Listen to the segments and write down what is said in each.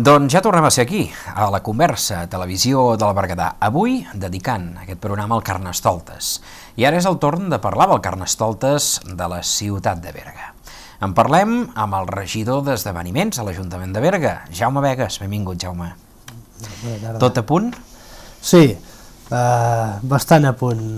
Doncs ja tornem a ser aquí, a la Conversa, Televisió del Berguedà, avui dedicant aquest programa al Carnestoltes. I ara és el torn de parlar del Carnestoltes de la ciutat de Berga. En parlem amb el regidor d'esdeveniments a l'Ajuntament de Berga, Jaume Begues. Benvingut, Jaume. Tot a punt? Sí, bastant a punt,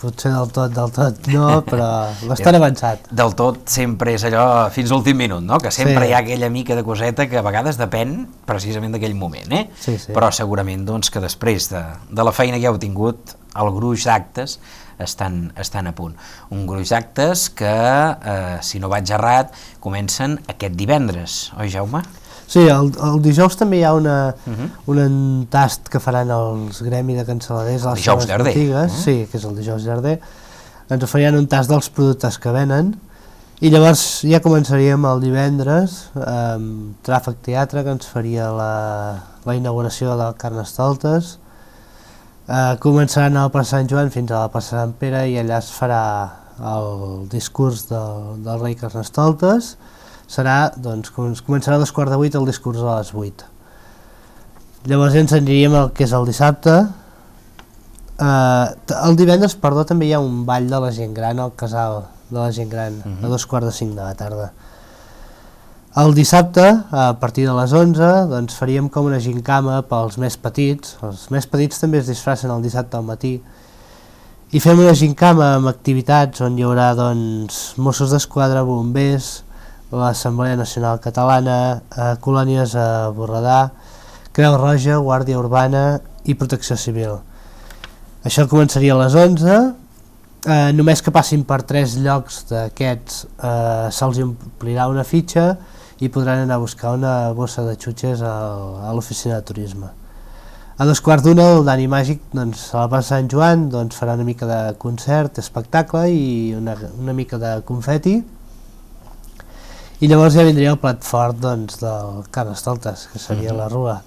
potser del tot no, però bastant avançat. Del tot sempre és allò fins l'últim minut, no? Que sempre hi ha aquella mica de coseta que a vegades depèn precisament d'aquell moment, eh? Sí. Però segurament doncs, que després de la feina que heu tingut, el gruix d'actes estan a punt. Un gruix d'actes que, si no vaig errat, comencen aquest divendres, oi, Jaume? Sí, el dijous també hi ha un tast que faran els Gremi de Cansaladers a les seves botigues, sí, que és el dijous llarder. Ens oferien un tast dels productes que venen i llavors ja començaríem el divendres amb Tràfic Teatre, que ens faria la inauguració del Carnestoltes. Començaran a la plaça Sant Joan fins a la plaça Sant Pere i allà es farà el discurs del rei Carnestoltes. Començarà a 7:45 el discurs a les 8. Llavors ens aniríem al que és el dissabte. El divendres, també hi ha un ball de la gent gran al casal de la gent gran, a 4:45 de la tarda. El dissabte, a partir de les 11, doncs, faríem com una gincama pels més petits. Els més petits també es disfracen el dissabte al matí. I fem una gincama amb activitats on hi haurà Mossos d'Esquadra, bombers, l'Assemblea Nacional Catalana, colònies a Borredà, Creu Roja, Guàrdia Urbana i Protecció Civil. Això començaria a les 11, només que passin per 3 llocs d'aquests se'ls omplirà una fitxa i podran anar a buscar una bossa de xutxes a l'oficina de turisme. A 2:15 el Dani Màgic a la plaça Sant Joan farà una mica de concert, espectacle i una mica de confeti. I llavors ja vindria el plat fort del Carnestoltes, que seria la rua.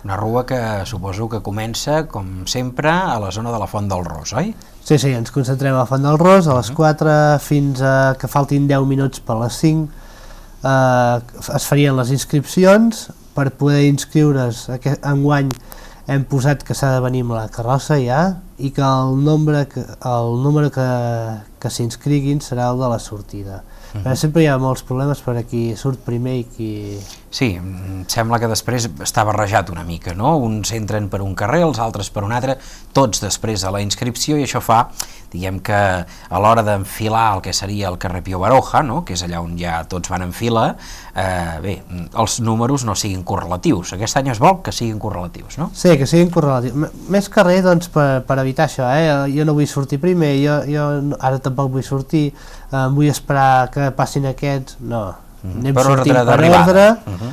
Una rua que suposo que comença, com sempre, a la zona de la Font del Ros, oi? Sí, ens concentrem a la Font del Ros, a les 4 fins a que faltin 10 minuts per les 5. Es farien les inscripcions. Per poder inscriure's enguany hem posat que s'ha de venir amb la carrossa ja i que el número que s'inscriguin serà el de la sortida. Però sempre hi ha molts problemes per a qui surt primer i qui... Sí, em sembla que després està barrejat una mica, no? Uns entren per un carrer, els altres per un altre, tots després a la inscripció, i això fa, diguem que a l'hora d'enfilar el que seria el carrer Pío Baroja, no? Que és allà on ja tots van en fila, els números no siguin correlatius. Aquest any es vol que siguin correlatius, no? Sí, que siguin correlatius. Més que res, per evitar això, jo no vull sortir primer, jo ara tampoc vull sortir, vull esperar que passin aquests, no. Anem sortint per ordre,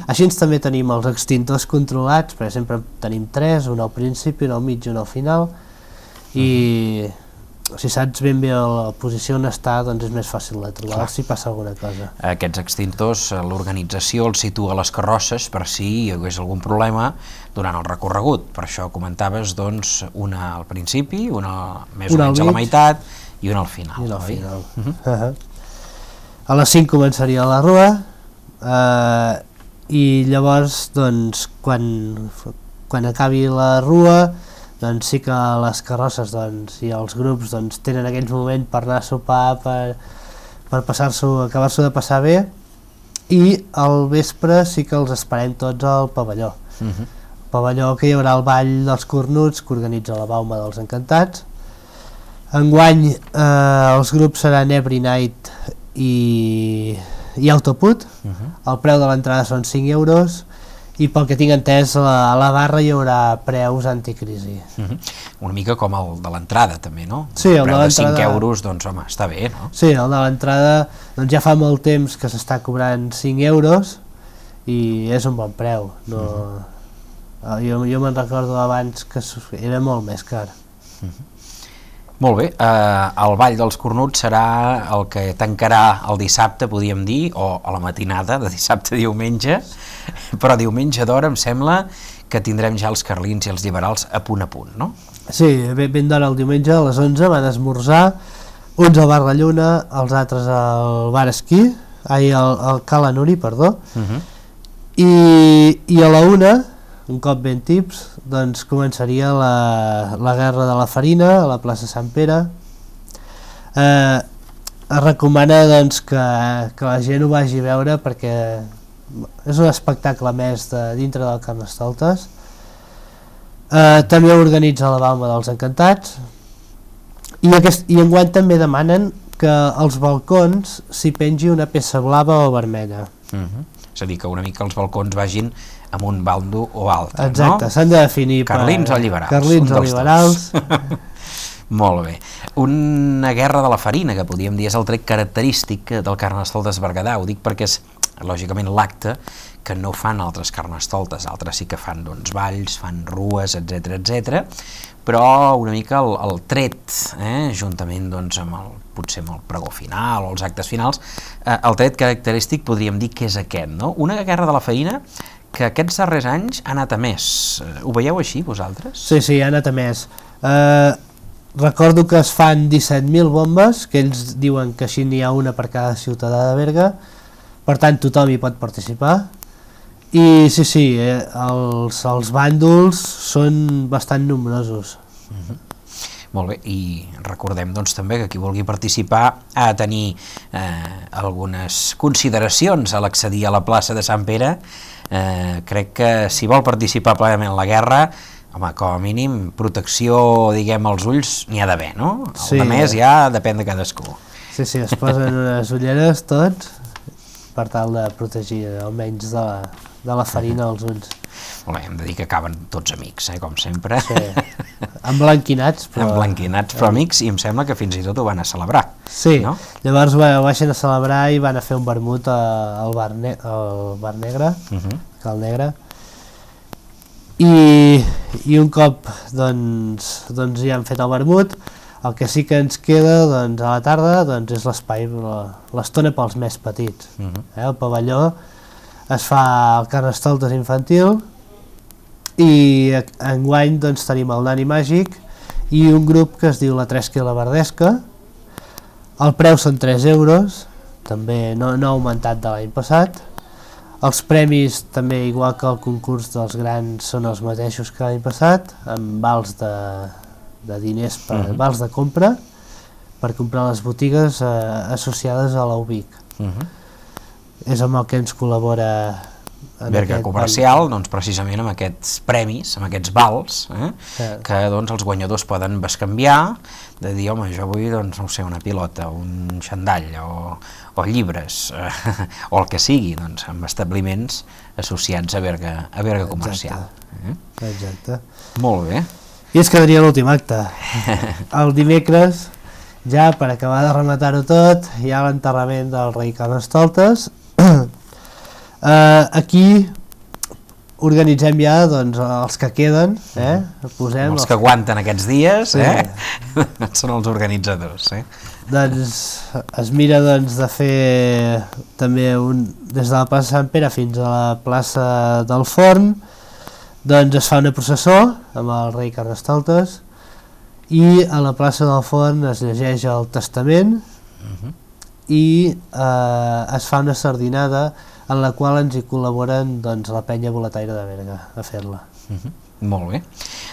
així també tenim els extintors controlats, perquè sempre tenim 3, un al principi, un al mig i un al final, i si saps ben bé la posició on està, doncs és més fàcil de trobar si passa alguna cosa. Aquests extintors, l'organització els situa a les carrosses per si hi hagués algun problema durant el recorregut. Per això comentaves, doncs, una al principi, una més o menys a la meitat i una al final. I una al final. A les 5 començaria la rua i llavors, doncs, quan acabi la rua, doncs sí que les carrosses i els grups tenen aquells moments per anar a sopar, per acabar-s'ho de passar bé, i al vespre sí que els esperem tots al pavelló. El pavelló que hi haurà el ball dels cornuts que organitza la Bauma dels Encantats. Enguany els grups seran Every Night i Autoput. El preu de l'entrada són 5 euros i pel que tinc entès a la barra hi haurà preus anticrisi. Una mica com el de l'entrada també, no? Sí, el preu de 5 euros, doncs home, està bé, no? Sí, el de l'entrada ja fa molt temps que s'està cobrant 5 euros i és un bon preu. Jo me'n recordo abans que era molt més car. Molt bé, el Ball dels Cornuts serà el que tancarà el dissabte, podríem dir, o a la matinada de dissabte a diumenge, però diumenge d'hora em sembla que tindrem ja els carlins i els liberals a punt, no? Sí, ben d'hora el diumenge a les 11 van esmorzar, uns al Bar La Lluna, els altres al Bar Esquí, al Cala Nuri, perdó, I a la 1, un cop ben tips, doncs començaria la guerra de la farina a la plaça Sant Pere. Es recomana doncs, que la gent ho vagi a veure perquè és un espectacle més dintre del Carnestoltes. També organitza la Balma dels Encantats i enguany també demanen que als balcons s'hi pengi una peça blava o vermella. És a dir, que una mica els balcons vagin amb un bando o altre. Exacte, no? s'han de definir carlins o liberals. Carlins o liberals. Molt bé. Una guerra de la farina, que podríem dir és el tret característic del Carnestoltes Berguedà. Ho dic perquè és, lògicament, l'acte que no fan altres Carnestoltes. Altres sí que fan doncs, balls, fan rues, etc, però una mica el tret, juntament doncs, potser amb el pregó final o els actes finals, el tret característic podríem dir que és aquest, no? Una guerra de la farina que aquests darrers anys ha anat a més. Ho veieu així, vosaltres? Sí, ha anat a més. Recordo que es fan 17.000 bombes, que ells diuen que així n'hi ha una per cada ciutadà de Berga, per tant tothom hi pot participar. I sí, els bàndols són bastant nombrosos. Molt bé, i recordem doncs, també que qui vulgui participar ha de tenir algunes consideracions a l'accedir a la plaça de Sant Pere. Crec que si vol participar plenament en la guerra, home, com a mínim protecció, diguem, als ulls n'hi ha d'haver, no? El de més ja depèn de cadascú. Sí, es posen unes ulleres tots per tal de protegir almenys de la farina als ulls. Molt bé, hem de dir que acaben tots amics, com sempre. Sí, emblanquinats, però... Emblanquinats, però amics, i em sembla que fins i tot ho van a celebrar. Sí, no? Llavors ho baixen a celebrar i van a fer un vermut al bar negre, Cal Negre, i un cop doncs ja han fet el vermut, el que sí que ens queda doncs, a la tarda doncs, és l'espai, l'estona pels més petits. El pavelló es fa el Carnestoltes infantil i enguany doncs, tenim el Nani Màgic i un grup que es diu la Tresca i la Verdesca. El preu són 3 euros, també no ha augmentat de l'any passat. Els premis també, igual que el concurs dels grans, són els mateixos que l'any passat, amb vals de diners, vals de compra, per comprar les botigues associades a l'UBIC. És amb el que ens col·labora Berga Comercial, doncs precisament amb aquests premis, amb aquests vals, que doncs els guanyadors poden bescanviar, de dir, home, jo vull, doncs, no sé, una pilota, un xandall, o llibres, o el que sigui, doncs, amb establiments associats a Berga Comercial. Exacte. Molt bé. I es quedaria l'últim acte. El dimecres, ja per acabar de rematar-ho tot, hi ha l'enterrament del rei Carnestoltes. Aquí organitzem ja doncs, els que queden, posem els que aguanten aquests dies, són els organitzadors. Doncs es mira doncs, de fer també des de la plaça Sant Pere fins a la plaça del Forn, doncs es fa una processó amb el rei Carnestoltes i a la plaça del Forn es llegeix el testament i es fa una sardinada en la qual ens hi col·laboren doncs, la penya boletaire de Berga a fer-la. Molt bé.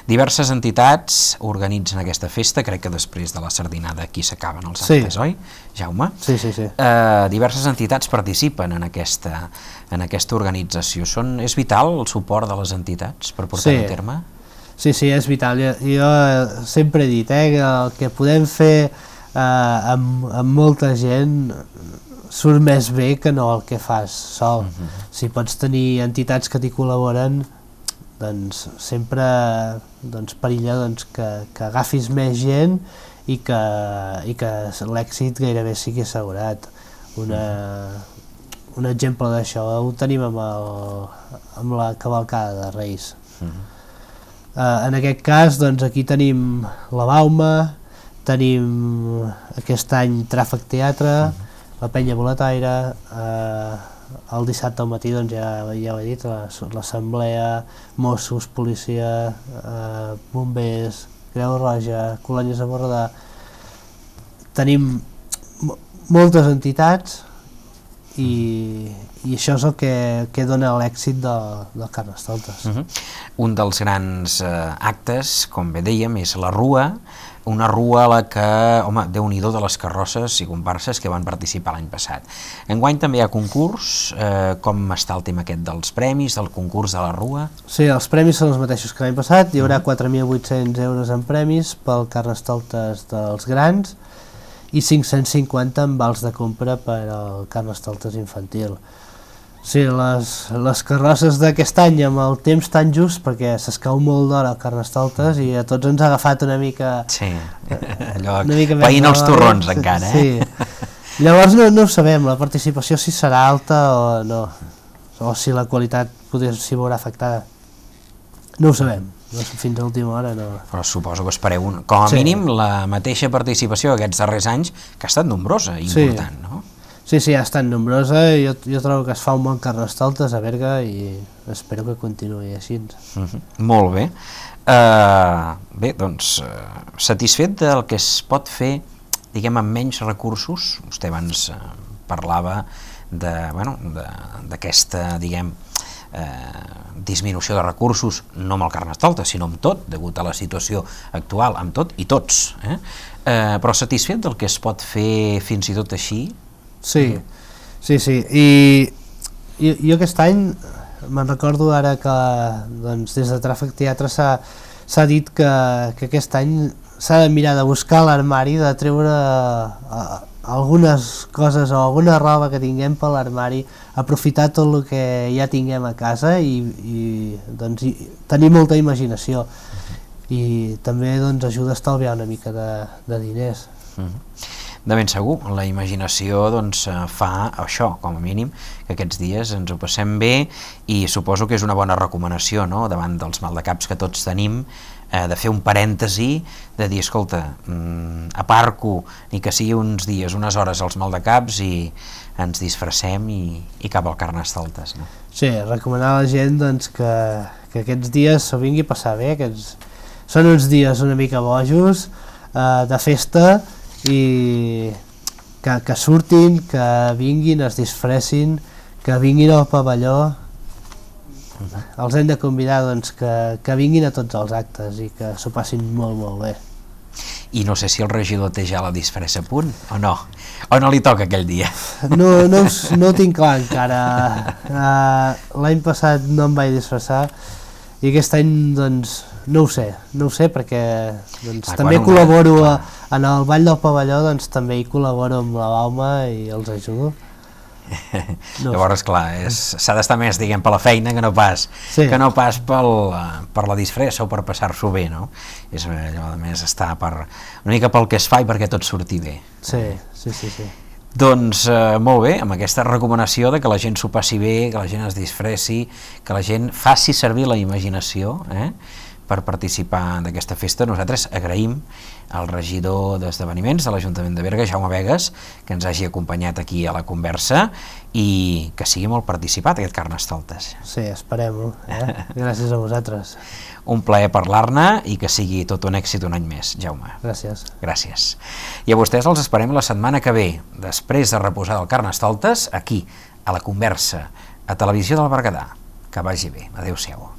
Diverses entitats organitzen aquesta festa, crec que després de la sardinada aquí s'acaben els actes, oi, Jaume? Sí. Diverses entitats participen en aquesta organització. És vital el suport de les entitats per portar a terme? Sí, és vital. Jo sempre he dit que el que podem fer amb molta gent surt més bé que no el que fas sol. Si pots tenir entitats que t'hi col·laboren, doncs sempre perilla que agafis més gent i que l'èxit gairebé sigui assegurat. Un exemple d'això ho tenim amb la cavalcada de Reis. En aquest cas, doncs, aquí tenim la Bauma, tenim aquest any Tràfic Teatre, la penya boletaire, el dissabte al matí doncs, ja ho he dit, l'assemblea, Mossos, policia, bombers, Creu Roja, colònies de Borredà. Tenim moltes entitats i això és el que dona l'èxit del Carnestoltes. Un dels grans actes, com bé dèiem, és la rua, una rua a la que, home, déu-n'hi-do de les carrosses i comparses que van participar l'any passat. Enguany també hi ha concurs, com està el tema aquest dels premis, del concurs de la rua? Sí, els premis són els mateixos que l'any passat, hi haurà 4.800 euros en premis pel Carnestoltes dels grans i 550 en vals de compra per al Carnestoltes infantil. Sí, les carrosses d'aquest any amb el temps tan just, perquè s'escau molt d'hora el Carnestoltes i a tots ens ha agafat una mica... Sí, allò veient els torrons encara, Sí. Llavors no ho sabem, la participació si serà alta o no, o si la qualitat s'hi veurà afectada. No ho sabem, fins a l'última hora no. Però suposo que espereu, com a mínim, la mateixa participació aquests darrers anys, que ha estat nombrosa i important, no? Sí, ha estat nombrosa, jo trobo que es fa un bon Carnestoltes a Berga i espero que continuï així. Molt bé. Bé, doncs, satisfet del que es pot fer, diguem, amb menys recursos. Vostè abans parlava d'aquesta, diguem, disminució de recursos, no amb el Carnestoltes, sinó amb tot, degut a la situació actual, amb tot i tots. Però satisfet del que es pot fer fins i tot així? Sí, i jo aquest any me'n recordo ara que des de Tràfic Teatre s'ha dit que aquest any s'ha de mirar de buscar a l'armari, de treure algunes coses o alguna roba que tinguem per l'armari, aprofitar tot el que ja tinguem a casa i tenir molta imaginació i també ajuda a estalviar una mica de diners. De ben segur, la imaginació fa això, com a mínim, que aquests dies ens ho passem bé i suposo que és una bona recomanació, no?, davant dels maldecaps que tots tenim, de fer un parèntesi, de dir, escolta, aparco, ni que sigui uns dies, unes hores als maldecaps i ens disfressem i cap al Carnestoltes, no? Sí, recomanar a la gent que aquests dies s'ho vingui a passar bé, són uns dies una mica bojos, de festa, i que surtin, que vinguin, es disfressin, que vinguin al pavelló. Els hem de convidar que vinguin a tots els actes i que s'ho passin molt, molt bé. I no sé si el regidor té ja la disfressa a punt, o no? O no li toca aquell dia? No ho tinc clar encara. L'any passat no em vaig disfressar i aquest any, no ho sé perquè també col·laboro en el Ball del Pavelló, també hi col·laboro amb la Bauma i els ajudo. Llavors, clar, s'ha d'estar més, diguem, per la feina que no pas per la disfressa o per passar-s'ho bé, no? És allò, a més, estar una mica pel que es fa i perquè tot surti bé. Sí. Doncs molt bé, amb aquesta recomanació de que la gent s'ho passi bé, que la gent es disfressi, que la gent faci servir la imaginació per participar d'aquesta festa. Nosaltres agraïm al regidor d'Esdeveniments de l'Ajuntament de Berga, Jaume Begues, que ens hagi acompanyat aquí a la conversa i que sigui molt participat aquest Carnestoltes. Sí, esperem-ho. Gràcies a vosaltres. Un plaer parlar-ne i que sigui tot un èxit un any més, Jaume. Gràcies. I a vostès els esperem la setmana que ve, després de reposar del Carnestoltes, aquí, a la conversa, a Televisió del Berguedà. Que vagi bé. Adéu-siau.